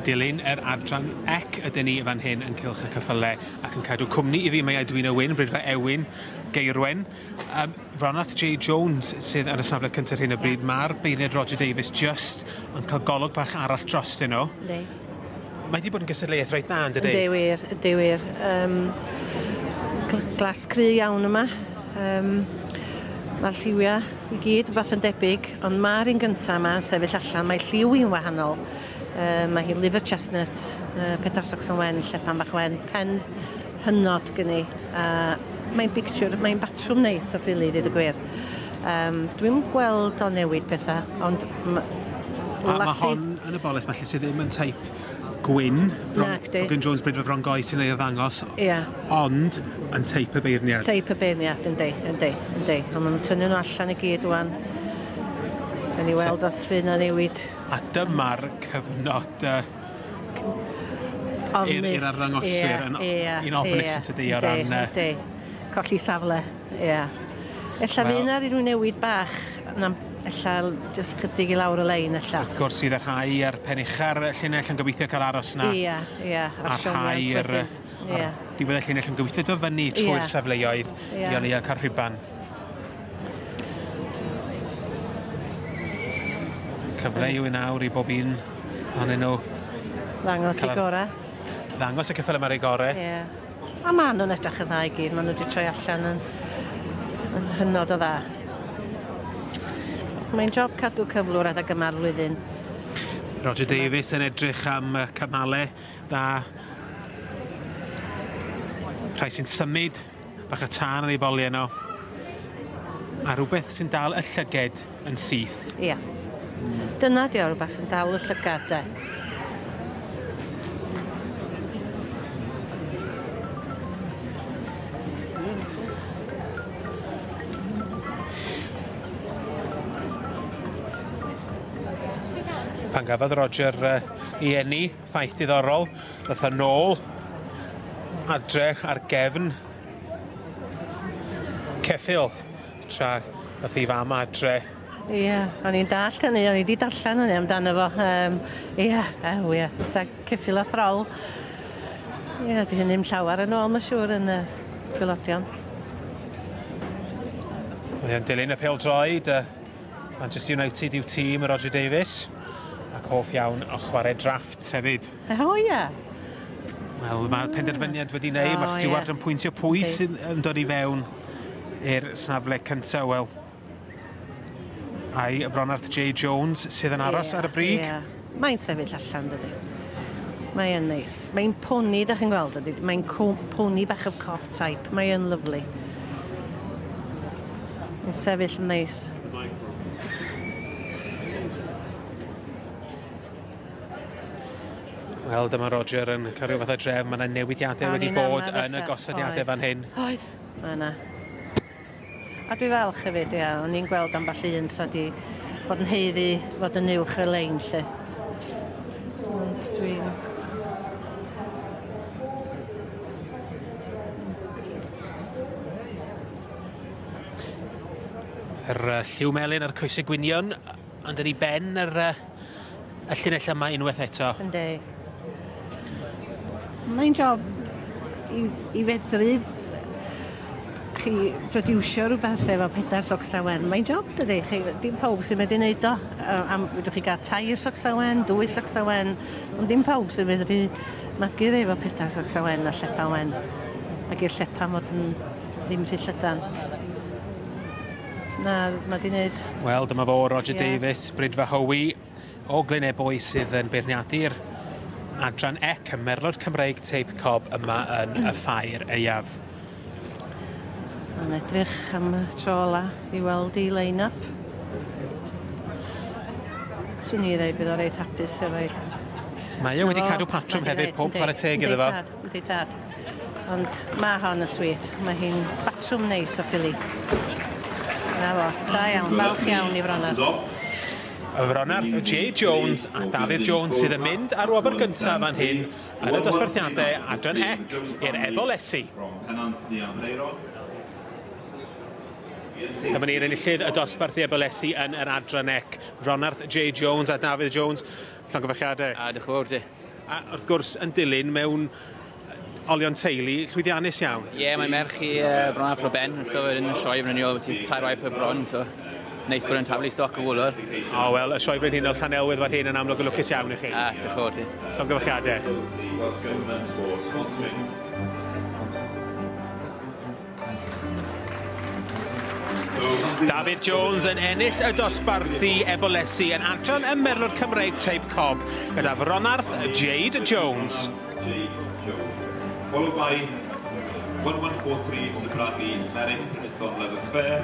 Dilyn yr adran ec ydyn ni fan hyn yn Cylch y Ceffylau ac yn cadw cwmni iddi mae Edwina Wyn, Brydfa Ewin, Geirwen. Rhonarth J Jones sydd ar y safle cyntaf ar hyn o bryd. Mae'r beirniad Roger Davies just yn cael golwg bach arall drostyn nhw. Yndi. Mae wedi bod yn gystadleuaeth reit dda, yn dydi? Yndi wir, yndi wir. Glas cry iawn yma. Mae'r lliwiau i gyd rhywbeth yn debyg, ond mae'r un gyntaf yma yn sefyll allan, mae lliw hi'n wahanol. Mae hi liver chestnut, pedair socsen wen, llepan bach wen, pen hynod gen i. Mae'n picture, mae'n batrwm neis o ffili, dweud y gwir. Dwi'm gweld o newid pethau, ond A mae hon yn y boles falle sydd ddim yn teip gwyn, Brogan Jones Brydfa Bron Goes sy'n ei ddangos, ond yn teip y beirniad. Teip y beirniad, yndi, yndi, yndi. Ond maen nhw'n tynnu nhw allan i gyd wan. Yn i weld os fydd na newid. A dyma'r cyfnod i'r arddangoswyr yn un ofnus yn tydi o ran... Yndi, colli safle, ie. Ella fydd yna rhyw newid bach, ella jyst chydig i lawr y lein, ella. Wrth gwrs, fydd y rhai ar pen ucha'r llinell yn gobeithio cael aros na. Ie, ie. A rhai ar diwedd y llinell yn gobeithio dod fyny trwy'r safleoedd i o leia cael rhuban. Cyfle yw i nawr i bob un ohonyn nhw. Ddangos i gorau. Ddangos y ceffyl yma ar ei gorau. Ie. A maen nhw'n edrych yn dda i gyd. Maen nhw wedi troi allan yn hynod o dda. Mae'n job cadw cyflwr adeg yma'r flwyddyn. Roger Davies yn edrych am cymalau dda. Rhai sy'n symud, bach o tân yn ei boliau nhw. A rhywbeth sy'n dal y llyged yn syth. Ie. Dyna di o, rhywbeth sy'n dal y llygad, de. Pan gafodd Roger ei eni, ffaith diddorol, ddath o nôl adre ar gefn ceffyl tra ddath ei fam adre. Ie, o'n i'n dallt hynny, o'n i wedi darllen hynny amdano fo. Ie, ie, da ceffyl a throl. Ie, di hynny'm llawer yn ôl, mae'n siŵr, yn y gwaelodion. Mae o'n dilyn y pêl-droed, Manchester United yw tîm Roger Davies, ac hoff iawn o chwarae drafft hefyd. O, ie. Wel, mae'r penderfyniad wedi wneud, mae'r stiward yn pwyntio pwy sydd yn dod i fewn i'r safle cyntaf. Wel, ai Rhonarth J Jones sydd yn aros ar y brig? Ie, mae'n sefyll allan, dydy. Mae'n neis. Mae'n pony, da chi'n gweld, dydy. Mae'n pony bach of cob type. Mae'n lyfli. Mae'n sefyll yn neis. Wel, dyma Roger yn cael rhyw fath o drefn. Mae yna newidiadau wedi bod yn y gosodiadau fan hyn. Oedd, mae yna. A dwi falch hefyd, ia. O'n i'n gweld ambell un sa di bod yn haeddu fod yn uwch y lein, lle. Ond dwi'n... Yr lliw melyn a'r coesau gwynion, ond yn ei ben yr y llinell yma unwaith eto. Yndi. Mae'n job i fedru chi produsio rhywbeth efo pedair socsa wen. Mae'n job, dydy. Chi, dim pawb sy'n medru wneud o. Fedrwch chi gael 3 socsa wen, 2 socsa wen, ond dim pawb sy'n medru magu rei efo pedair socsa wen a llepa wen. Ac i'r llepa fod yn ddim rhy llydan. Na, mae di wneud. Wel, dyma fo, Roger Davies, Brydfa Howi o Glynebwy sydd yn beirniadu'r adran ec, y Merlod Cymreig Teip Cob yma yn y Ffair Aeaf. Mae'n edrych am y tro ola i weld ei line-up. Swn i ddeud bydd o reit hapus efo'i... Mae o wedi cadw patrwm hefyd, pob chwarae teg iddo fo. Yndi tad. Ond mae hon yn sweet. Mae hi'n batrwm neis o ffili. Na fo, da iawn, falch iawn i Fronarth. Y Fronarth, J Jones a Dafydd Jones sydd yn mynd ar wobr gyntaf fan hyn yn y dosbarthiadau adran ec i'r Ebolesi. Dyma ni'r enillydd y dosbarth i Ebolesi yn yr adran ec. Fronarth, J Jones a Dafydd Jones. Llongyfarchiadau. A diolch yn fawr ti. A wrth gwrs yn dilyn mewn olion teulu llwyddiannus iawn. Ie, yeah, mae merch i Fronarth Roben yn llyfr yn y sioe frenhinol, ti tair waith y bron, so neis bod yn taflu stoc o wylwr. O, wel, y sioe frenhinol Llanelwedd fan hyn yn amlwg yn lwcus iawn i chi. A, diolch yn fawr ti. Llongyfarchiadau. David Jones yn ennill y dosbarthu ebolesi yn adran y Merlod Cymreig Teip Cob gyda Fronarth Jade Jones. Jade Jones. Followed by 1143 Mr Bradley, Meryn Prinithon Love Affair.